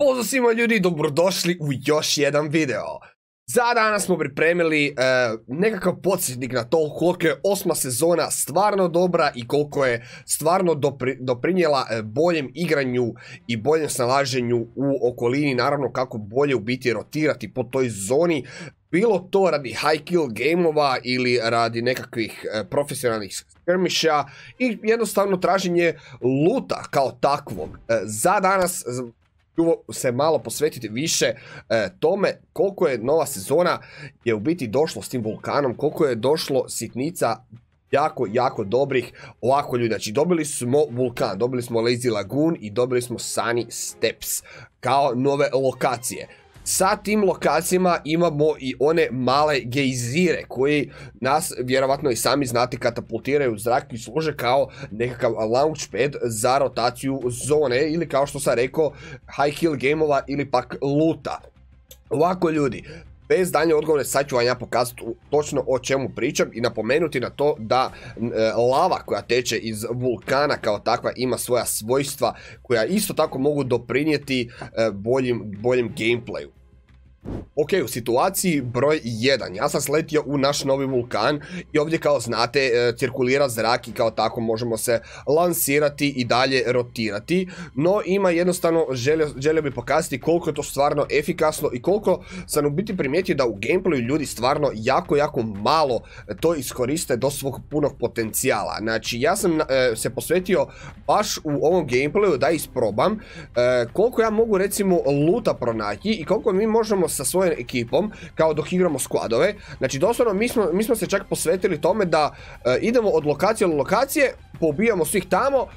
Pozdrav svima ljudi, dobrodošli u još jedan video. Za danas smo pripremili nekakav podsjetnik na to koliko je 8. sezona stvarno dobra i koliko je stvarno doprinijela boljem igranju i boljem snalaženju u okolini. Naravno kako bolje u biti rotirati po toj zoni. Bilo to radi high kill gameova ili radi nekakvih profesionalnih skirmisha i jednostavno traženje luta kao takvog. Za danas ću se malo posvetiti više tome koliko je nova sezona je u biti došlo s tim vulkanom, koliko je došlo sitnica jako dobrih. Ovako ljudi, znači dobili smo vulkan, dobili smo Lazy Lagoon i dobili smo Sunny Steps kao nove lokacije. Sa tim lokacijama imamo i one male gejzire koji nas vjerovatno i sami znate katapultiraju u zrak i služe kao nekakav launchpad za rotaciju zone ili kao što sam rekao high kill gameova ili pak luta. Ovako ljudi, bez daljnje odgovore sad ću vam ja pokazati točno o čemu pričam i napomenuti na to da lava koja teče iz vulkana kao takva ima svoja svojstva koja isto tako mogu doprinijeti boljem gameplayu. Ok, u situaciji broj 1, ja sam sletio u naš novi vulkan i ovdje kao znate cirkulira zrak i kao tako možemo se lansirati i dalje rotirati, no ima jednostavno, želio bi pokazati koliko je to stvarno efikasno i koliko sam u biti primijetio da u gameplayu ljudi stvarno jako malo to iskoriste do svog punog potencijala. Znači ja sam se posvetio baš u ovom gameplayu da isprobam koliko ja mogu recimo luta pronaći i koliko mi možemo sa svojom ekipom, kao dok igramo skladove. Znači doslovno mi smo se čak posvetili tome da idemo od lokacije do lokacije, poubijamo svih tamo,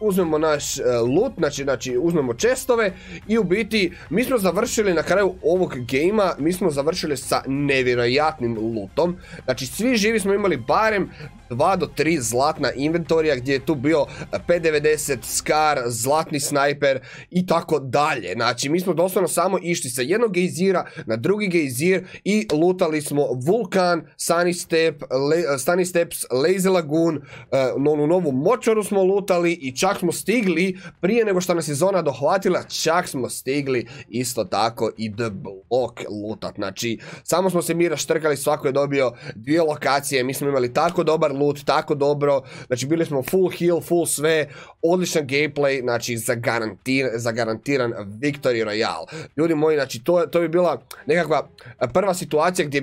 uzmemo naš loot, znači uzmemo chestove i u biti mi smo završili na kraju ovog gamea, mi smo završili sa nevjerojatnim lootom. Znači svi živi smo imali barem 2 do 3 zlatna inventorija gdje je tu bio P90, Scar, zlatni snajper i tako dalje. Znači mi smo doslovno samo išli sa jednog gejzira na drugi gejzir i lutali smo vulkan, Sunny Steps, Lazy Lagoon, onu novu močvaru smo lutali i čak smo stigli, prije nego što nas je zona dohvatila, čak smo stigli isto tako i The Block lutat. Znači samo smo se mi raštrkali, svako je dobio 2 lokacije, mi smo imali tako dobar loot, tako dobro, znači bili smo full heal, full sve, odličan gameplay, znači zagarantiran Victory Royale. Ljudi moji, znači to bi bila nekakva prva situacija gdje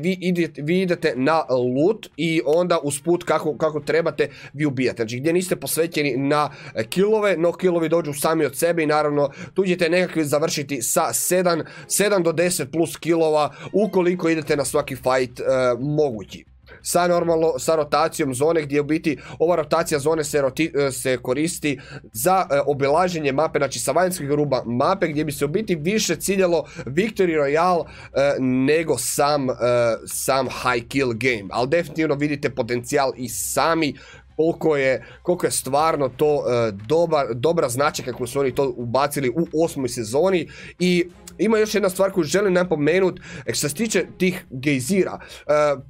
vi idete na loot i onda usput kako trebate vi ubijate. Znači gdje niste posvećeni na killove, no killovi dođu sami od sebe i naravno tu ćete nekakvi završiti sa 7 do 10 plus killova ukoliko idete na svaki fight mogući. Sa rotacijom zone gdje u biti ova rotacija zone se koristi za obilaženje mape, znači sa vanjskih ruba mape gdje bi se u biti više ciljalo Victory Royale nego sam high kill game, ali definitivno vidite potencijal i sami koliko je stvarno to dobra značajka kako su oni to ubacili u 8. sezoni. I ima još jedna stvar koju želim napomenuti što se tiče tih gejzira.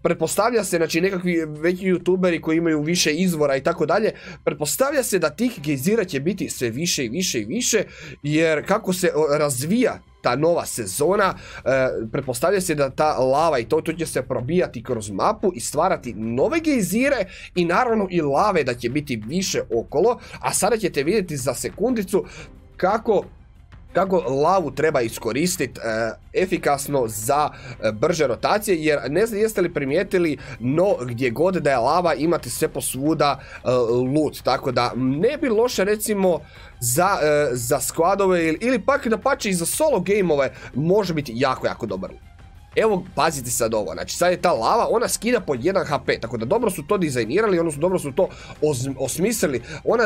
Pretpostavlja se, znači nekakvi veći youtuberi koji imaju više izvora i tako dalje, pretpostavlja se da tih gejzira će biti sve više i više, jer kako se razvija ta nova sezona, pretpostavlja se da ta lava i to će se probijati kroz mapu i stvarati nove gejzire i naravno i lave da će biti više okolo, a sada ćete vidjeti za sekundicu kako lavu treba iskoristiti efikasno za brže rotacije, jer ne znam jeste li primijetili, no gdje god da je lava imate sve posvuda loot, tako da ne bi loše recimo za skladove ili pak da pače i za solo gameove može biti jako dobar loot. Evo, pazite sad ovo, znači sad je ta lava, ona skida po 1 HP, tako da dobro su to dizajnirali, odnosno dobro su to osmislili.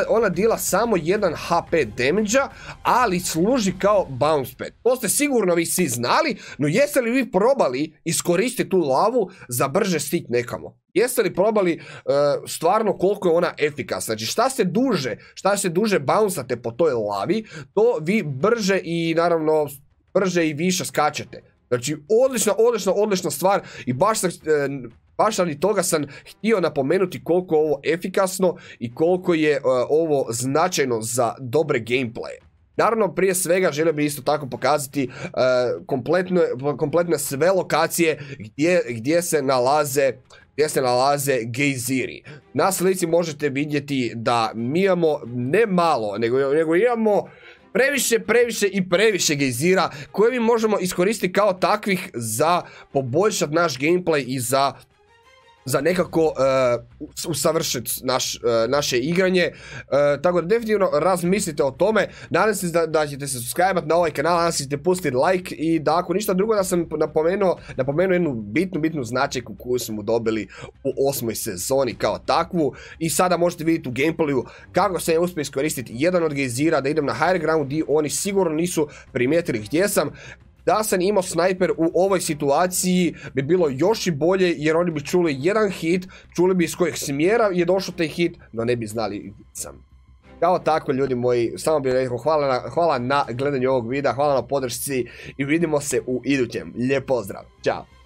Ona dila samo 1 HP damage-a, ali služi kao bounce pad. To ste sigurno vi svi znali, no jeste li vi probali iskoristiti tu lavu za brže stić nekamo? Jeste li probali stvarno koliko je ona efikasna? Znači šta se duže bounceate po toj lavi, to vi brže i naravno brže i više skačete. Znači odlična stvar i baš radi toga sam htio napomenuti koliko je ovo efikasno i koliko je ovo značajno za dobre gameplaye. Naravno, prije svega želio bih isto tako pokazati kompletne sve lokacije gdje se nalaze gejziri. Na slici možete vidjeti da mi imamo ne malo, nego imamo previše gejzira koje mi možemo iskoristiti kao takvih za poboljšati naš gameplay i za nekako usavršiti naše igranje. Tako da definitivno razmislite o tome. Nadam se da ćete se subscribe-at na ovaj kanal, nadam se da ćete pustiti like i da ako ništa drugo da sam napomenuo jednu bitnu značajku koju smo dobili u 8. sezoni kao takvu. I sada možete vidjeti u gameplayu kako sam ja uspio iskoristiti jedan od gejzira da idem na higher ground gdje oni sigurno nisu primijetili gdje sam. Da sam imao snajper u ovoj situaciji bi bilo još i bolje jer oni bi čuli jedan hit, čuli bi iz kojeg smjera je došao taj hit, no ne bi znali gdje sam. Kao tako ljudi moji, samo bih rekao hvala na gledanju ovog videa, hvala na podršci i vidimo se u idućem. Lijep pozdrav, ćao!